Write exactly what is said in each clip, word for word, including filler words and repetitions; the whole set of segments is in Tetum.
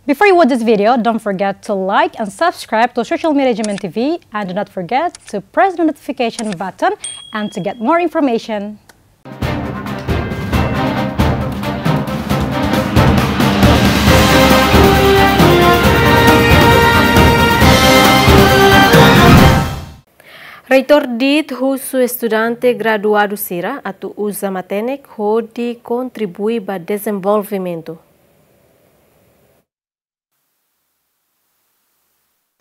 Before you watch this video, don't forget to like and subscribe to Social Media G M N T V, and do not forget to press the notification button and to get more information. Reitór DIT husu estudante graduadu sira atu uza matenek hodi kontribui ba dezenvolvimentu.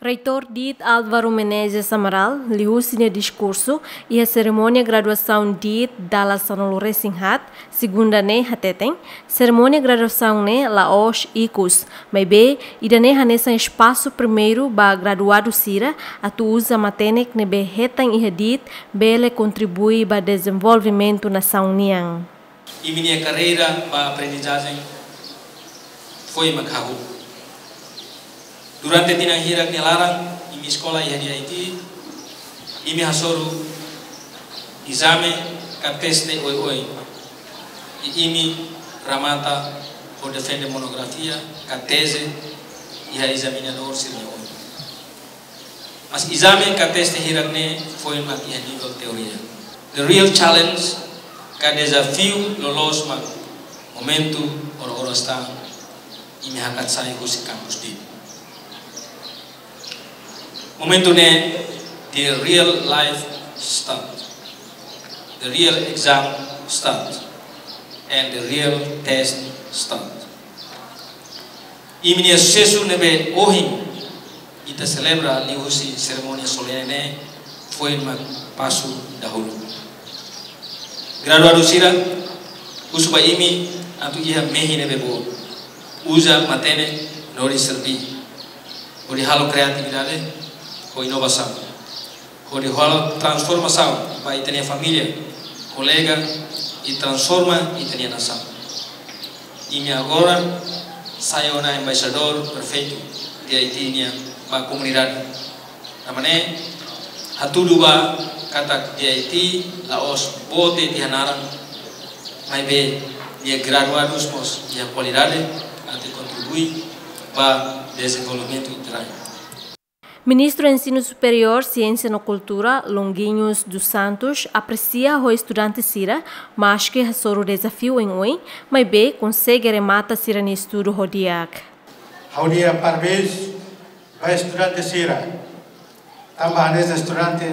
Reitór DIT Álvaro Menezes Amaral liuhusi nia diskursu iha serimónia graduasaun DIT dala sanulu-resin-haat, segunda ne'e hateten, serimónia graduasaun ne'e la'ós ikus, maibé ida-ne'e hanesan espasu primeiru ba graduadu sira atu uza matenek ne'ebé hetan iha DIT bele kontribui ba dezenvolvimentu nasaun nian. Imi-nia karreira ba aprendizajen foin mak hahú. Durante tinan hirak nia laran, imi eskola iha DIT, imi hasoru ezame ka teste oioin. I imi remata ho defende monografia ka teze iha ezaminadór sira-nia oin. Mas ezame ka teste hirak ne'e foin mak iha nivel teoria. The real challenge ka dezafiu loloos mak momentu oras-oras tan imi hakat sai husi kampus DIT. Momentu ne'e the real life start. The real exam start. And the real test start. Imi-nia susesu ne'ebé ohin ita selebra liuhusi serimónia solene ne'e foin mak pasu dahuluk. Graduadu sira, husu ba imi atu iha mehi ne'ebé boot. Uza matenek hodi serví, hodi halo kriatividade ho inovasaun, hodi halo transformasaun ba ita-nia família, kolega, i transforma ita-nia nasaun. Imi agora sai ona embaixadór perfeitu DIT nian ba komunidade. Tanba ne'e, hatudu ba katak DIT la'ós boot de'it iha naran, maibé nia graduadus mós iha kualidade atu kontribui ba dezenvolvimentu ita-nia rai. Ministru Ensinu Superiór, Siénsia no Kultura, Longuinhos dos Santos, apresia ho estudante sira, maski hasoru dezafiu oioin, maibé konsege remata sira-nia estudu ho di'ak. Ha'u-nia parabéns ba estudante sira. Tanba hanesan estudante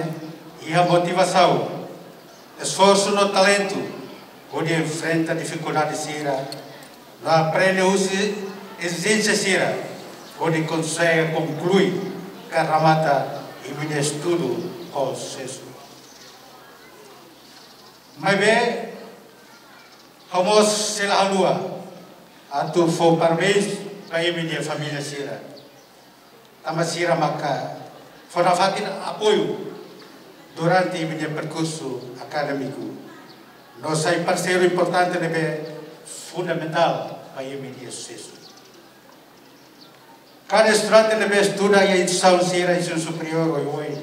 iha motivasaun, esforsu no talentu hodi enfrenta difikuldade sira, no aprende husi ezijénsia sira, hodi konsege konklui ka remata imi-nia estudu ho susesu. Maibé, ha'u mós sei la haluha atu fó parabéns ba imi-nia família sira. Tanba sira maka fó nafatin apoiu durante imi-nia perkursu akadémiku. No sai parseiru importante ne'ebé fundamentál ba imi-nia susesu. Kada estudante ne'ebé estuda iha instituisaun sira ensinu superiór oioin,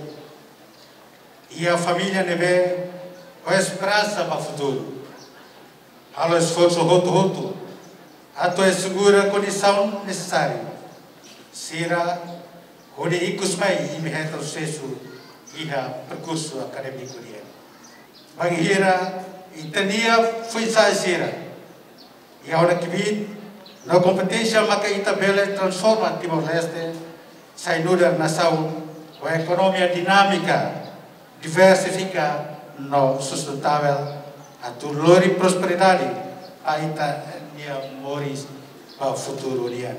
iha família ne'ebé ho esperansa ba futuru, halo esforsu hotu-hotu atu asegura kondisaun nesesáriu sira hodi ikus mai imi hetan susesu iha perkursu akadémiku nian. Bainhira ita-nia foin-sa'e sira iha ona kbiit no kompeténsia maka ita bele transforma Timor-Leste sai nu'udar nasaun ho ekonomia dinámika, diversifika no sustentável atu lori prosperidade ba ita-nia moris ba futuru nian.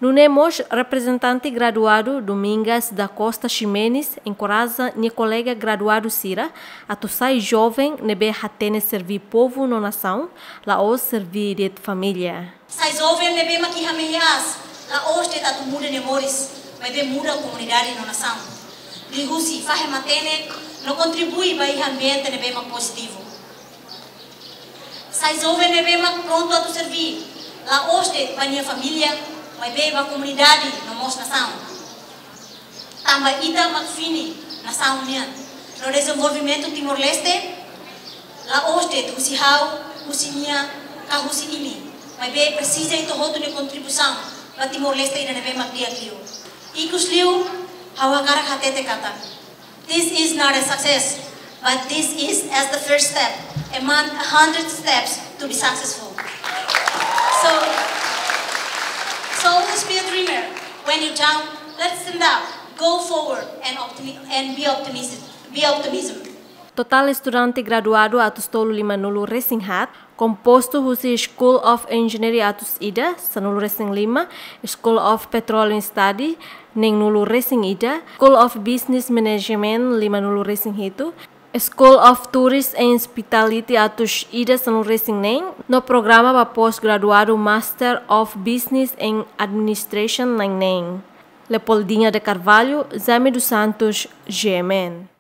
Nune'e mós reprezentante graduadu Domingas da Costa Ximenes enkoraja nia kolega graduadu sira atu sai joven ne'ebé hatene serví povu no nasaun, la'ós serví de'it família. Sai joven ne'ebé mak iha mehi aas, la'ós de'it atu muda nia moris, maibé muda komunidade no nasaun. Liuhusi fahe matenek no kontribui ba iha ambiente ne'ebé mak pozitivu. Sai joven ne'ebé mak prontu atu serví, la'ós de'it ba nia família, maibé ba komunidade no mós nasaun. Tanba ita mak fini nasaun nian. No dezenvolvimentu Timor-Leste la'ós de'it husi ha'u, husi nia, ka husi imi. Maibé presiza ita hotu nia kontribuisaun. ba Timor-Leste ida ne'ebé mak di'ak liu. Ikusliu, ha'u hakarak hatete katak, this is not a success, but this is as the first step among a hundred steps to be successful. So, so always be a dreamer. When you down, let's stand up, go forward, and optimi- and be optimistic. Be optimism. Totál estudante graduadu atus tolu lima-nulu resin haat, kompostu husi School of Engineering atus ida, sanulu resin lima, School of Petroleum Study, neen-nulu resin ida, School of Business Management, lima-nulu resin hitu, School of Tourist and Hospitality atus ida, sanulu resin neen, no programa ba pós-graduadu Master of Business and Administration, na'in neen. Leopoldina de Carvalho, Jaime dos Santos, G M N.